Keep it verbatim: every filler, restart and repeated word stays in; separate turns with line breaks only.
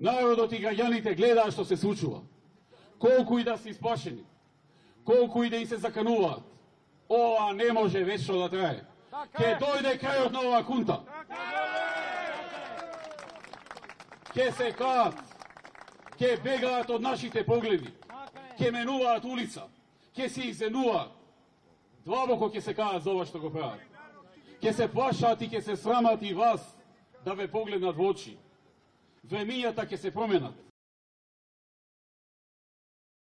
Народот и граѓаните гледаат што се случува. Колку и да се исплашени, колку и да им се закануваат, ова не може вечно да трае. Ке дојде крајот на оваа кунта. Ке се каат, ке бегаат од нашите погледи, ке менуваат улица, ке се изенуваат. Длабоко ке се каат за ова што го прават. Ке се плашат и ке се срамат и вас да ве погледнат во очи. Времињата ке се променат.